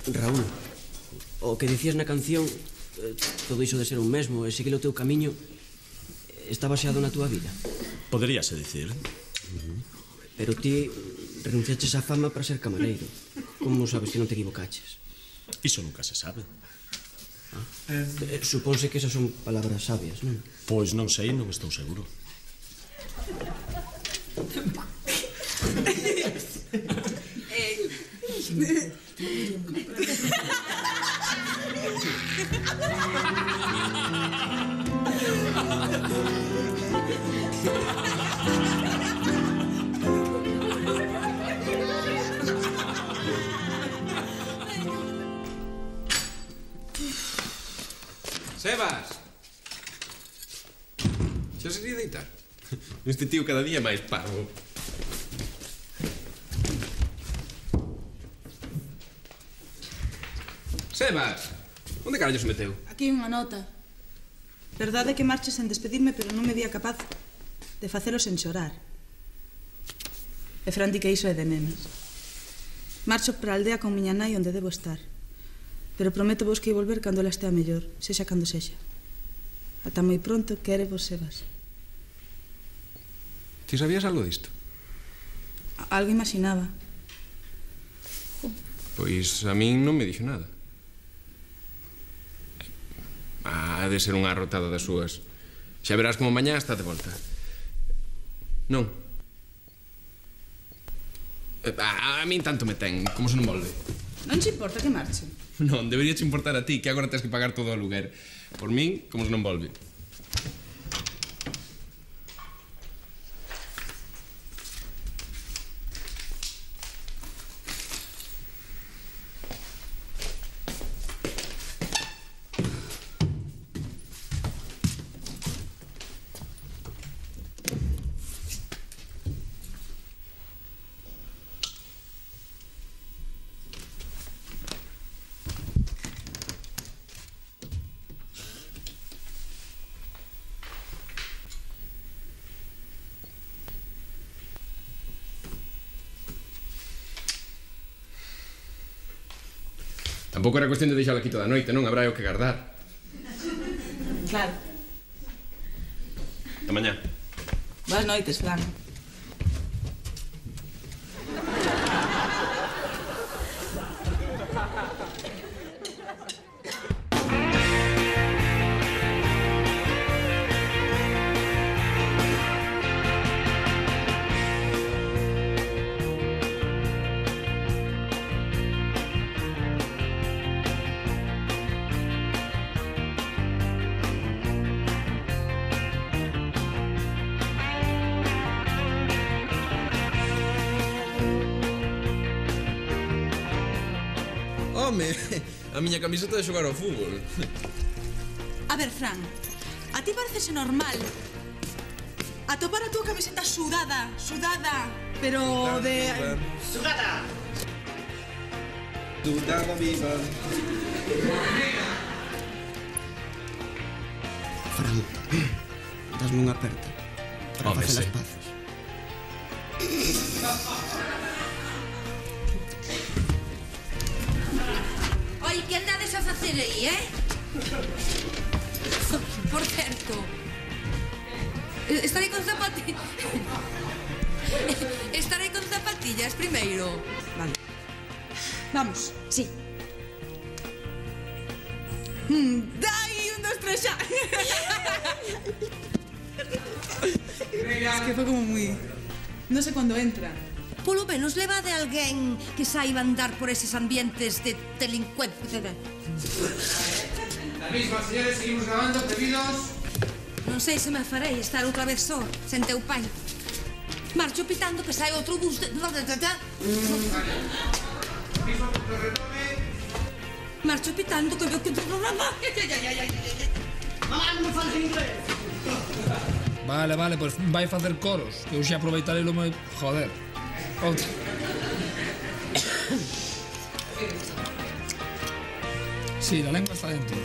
Raúl, o que dicías na canción, todo iso de ser un mesmo e seguir o teu camiño, está baseado na túa vida. Poderíase dicir. Pero ti renunciaches á fama para ser camareiro. Como sabes que non te equivocaches? Iso nunca se sabe. Supónse que esas son palabras sabias, non? Pois non sei, non estou seguro. Sebas! Xa sería deitar. Este tío cada día é máis parvo. Sebas! Onde carallo se meteu? Aquí unha nota. Verdade que marches sen despedirme, pero non me vía capaz de facelo sen chorar. E Fran di que iso é de nenas. Marcho para a aldea con miña nai onde debo estar. Pero prometo vos que ia volver cando ela estea mellor, sexa cando sexa. Ata moi pronto, quere vos, Sebas. Ti sabías algo disto? Algo imaginaba. Pois a min non me dixo nada. Ha de ser unha arrotada das súas. Xa verás como mañá está de volta. Non. A min tanto me ten, como se non volve. Non te importa que marche? Non, debería te importar a ti, que agora tens que pagar todo o aluguer. Por min, como se non volve. Tampouco era cuestión de deixalo aquí toda a noite, non? Habrá o que guardar. Claro. Ata mañá. Boas noites, Fran. Home, a miña camiseta de xogar ao fútbol. A ver, Fran, a ti parecese normal atopar a túa camiseta sudada, pero de... Sudada viva. Fran, dasme unha aperta para Home, facer sí. as paces. Oi, que andades a facer aí, Por certo, estarei con zapatillas. Estarei con zapatillas primeiro. Vale. Vamos. Sí. Dai, 1, 2, 3, xa. Es que fue como muy... No sé cuándo entra. Polo menos leva de alguén que saiba andar por eses ambientes de delincuencia. La misma, señores, seguimos grabando, pedidos. Non sei se me farei estar outra vez só, sen teu pai. Marcho pitando que sai outro bus de... Marcho pitando que veo que... Mamá, non me fales inglés. Vale, pois vai facer coros, que eu xa aproveitarei lo meu... Joder. Outra. Sí, la lengua está dentro.